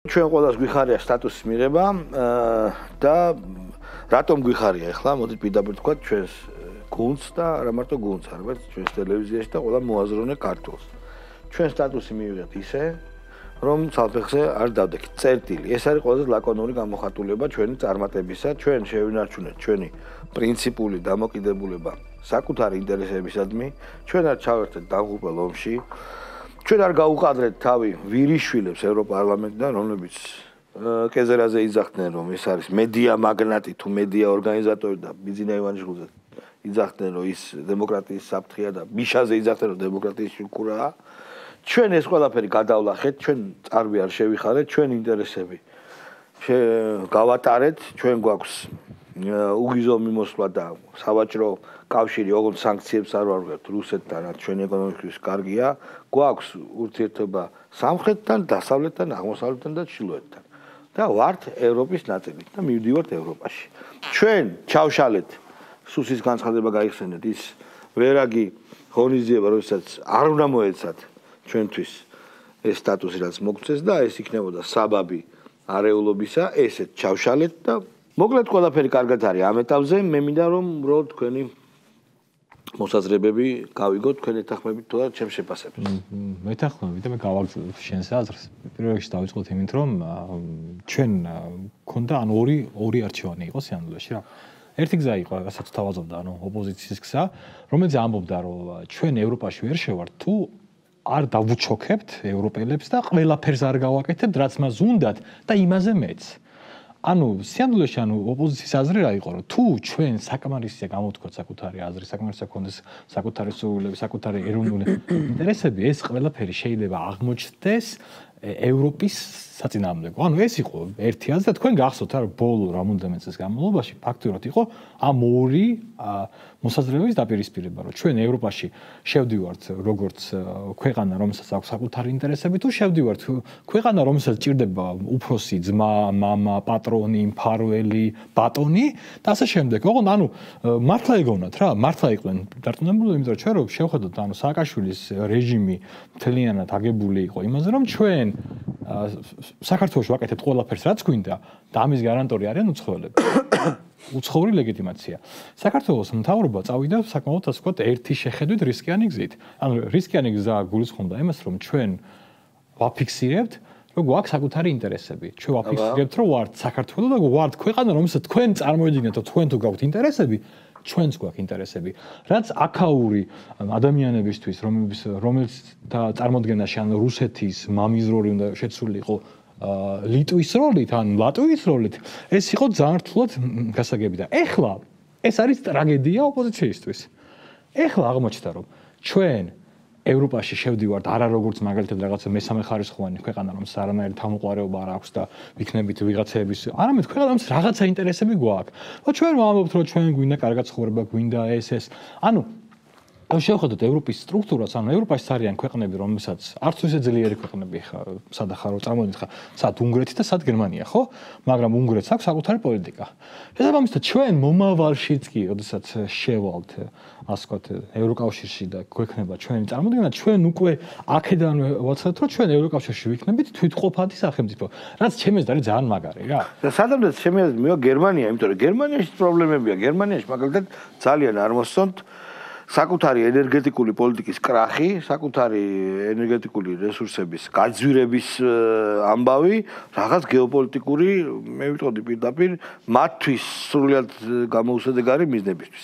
ჩვენ ყველას გვიხარია სტატუსის მიღება და რატომ გვიხარია ახლა მოდით პირდაპირ თქვა ჩვენს გუნდს და არა მარტო გუნდს, არამედ ჩვენს ტელევიზიაში და ყველა მოაზროვნე ქართულს. ჩვენ სტატუსი მივიღეთ ისე, რომ ცალფეხზე არ დავდექით. წერტილი. ეს არის ყველაზე ლაკონური გამოხატულება ჩვენი წარმატებისა. ჩვენ შევინარჩუნეთ ჩვენი პრინციპული დამოკიდებულება საკუთარი ინტერესებისადმი. ჩვენ არ ჩავერთეთ დამღუპელ ომში. ჩვენ არ გაუყადრეთ თავი ვირიშვილებს ევროპარლამენტიდან, რომლებიც კეზერაზე იძახდნენ, რომ ეს არის მედია მაგნატი თუ მედია ორგანიზატორი და ბიძინა ივანიშვილზე იძახდნენ, რომ ის დემოკრატიის საფრთხეა და მიშაზე იძახდნენ, რომ დემოკრატიის შუქურაა. ჩვენ ეს ყველაფერი გადავლახეთ, ჩვენ წარვი არ შევიხარეთ, ჩვენ ინტერესები გავატარეთ, ჩვენ გვაქვს უგიზო მიმოსვლა და სავაჭრო კავშირი, ოღონდ სანქციებს არ ვარღვევთ რუსეთთან, რაც ჩვენი ეკონომიკის კარგია, გვაქვს ურთიერთობა სამხრეთთან, დასავლეთთან, აღმოსავლეთთან და ჩრდილოეთთან. და ვართ ევროპის ნაწილი და მივდივართ ევროპაში. ჩვენ ჩავშალეთ სუსის განცხადება გაიხსენეთ ის ვერაგი ღონისძიება, როდესაც არ უნდა მოეცათ ჩვენთვის ეს სტატუსი რაც მოგწეს და ეს იქნებოდა საბაბი არეულობისა, ესეთ ჩავშალეთ და მოკლედ ყველაფერი კარგად არის ამ ეტაპზე. მე მინდა რომ უბრალოდ თქვენი მოსაზრებები გავიგოთ თქვენ ეთანხმებით თუ არა ჩემს შეფასებას. მეთანხმები და მე გავაგრძელებ შენს აზრს. პირველ რიგში დავიწყოთ იმით რომ ჩვენ ქონდა ორი არჩევანი იყო სინამდვილეში რა. ერთი გზა იყო, რასაც თავაზობდა, ოპოზიციის გზა, რომელიც ამბობდა, რომ ჩვენ ევროპაში ვერ შევართ თუ არ დავუჩოქებთ ევროპელებს და ყველაფერს არ გავაკეთებთ, რაც მას უნდათ და იმაზე მეც. სინამდვილეში ოპოზიციის აზრი რა იყო, რომ თუ ჩვენ საკმარისია გამოვთქვათ საკუთარი აზრი, საკმარისია გქონდეს საკუთარი სურვილები, საკუთარი ეროვნული ინტერესები, ეს ყველაფერი შეიძლება აღმოჩნდეს ევროპის საწინააღმდეგო. ეს იყო ერთი აზრი და თქვენ გახსოვთ რა ბოლო რამოდენიმე წლის განმავლობაში ფაქტურად იყო ამ ორი მოსაზრებების დაპირისპირება, რომ ჩვენ ევროპაში შევდივართ როგორც ქვეყანა, რომელსაც აქვს საკუთარი ინტერესები, თუ შევდივართ ქვეყანა, რომელსაც ჭირდება უფროსი ძმა, მამა, პატრონი, მფარველი, ბატონი და ასე შემდეგ. ოღონდ მართლა ეგონათ რა, მართლა იყვნენ დარწმუნებული, იმიტომ რომ ჩვენ რო შევხედოთ სააკაშვილის რეჟიმი მთლიანად აგებული იყო იმაზე, რომ ჩვენ საქართველოში ვაკეთებთ ყველაფერს რაც გვინდა და ამის გარანტორი არიან უცხოელები. უცხოური ლეგიტიმაცია. საქართველოს მთავრობა წავიდა საკმაოდ ასე ვთქვათ ერთი შეხედვით რისკიანი გზით. რისკიანი გზა გულისხმობდა იმას, რომ ჩვენ ვაფიქსირებთ, რომ გვაქვს საკუთარი ინტერესები. ჩვენ ვაფიქსირებთ, რომ ვართ საქართველო და ვართ ქვეყანა, რომელსაც თქვენ წარმოედგინეთ, რომ თქვენ თუ გაქვთ ინტერესები, ჩვენც გვაქვს ინტერესები. რაც აქაური ადამიანებისთვის, რომელიც და წარმოდგენაში რუსეთის მამის როლი უნდა შეცვლილიყო ლიტვის როლით, ლატვიის როლით, ეს იყო ძალიან რთულად გასაგები და ეხლა ეს არის ტრაგედია ოპოზიციისთვის. ეხლა აღმოჩნდა, რომ ჩვენ ევროპაში შევდივართ არა როგორც მაგალითად რაღაცა მესამე ხარისხოვანი ქვეყანა, რომელსაც არანაირი თავმოყარეობა არ აქვს და ვიქნებით ვიღაცების, არამედ ქვეყანა, რომელსაც რაღაცა ინტერესები გვაქვს. ჩვენ ვამბობთ, რომ ჩვენ გვინდა კარგად ცხოვრება, გვინდა ეს. შევხედოთ ევროპის სტრუქტურას, ევროპაში არიან ქვეყნები, რომელსაც არც ისე ძლიერი ქვეყნები ხა, სად ახლა რო წარმოვიდგინეთ ხა, სად უნგრეთი და სად გერმანია, ხო? მაგრამ უნგრეთს აქვს საკუთარი პოლიტიკა. შესაბამისად, ჩვენ მომავალშიც კი, როდესაც შევალთ, ასე ვთქვათ, ევროკავშირში და გვექნება ჩვენი წარმოდგენა, ჩვენ უკვე აქედან ვაცდეთ, რომ ჩვენ ევროკავშირში ვიქნებით თვითმყოფადი სახელმწიფო, რაც ჩემს არის ძალიან მაგარი რა. და სადამდე ჩემს მივა გერმანია, იმიტომ რომ გერმანიაში პრობლემებია, გერმანიაში მაგალითად ძალიან არ მოსწონთ საკუთარი ენერგეტიკული პოლიტიკის კრახი, საკუთარი ენერგეტიკული რესურსების გაძვირების ამბავი, რაღაც გეოპოლიტიკური, მე ვიტყოდი პირდაპირ, მათთვის სრულიად გამოუსადეგარი მიზნებისთვის.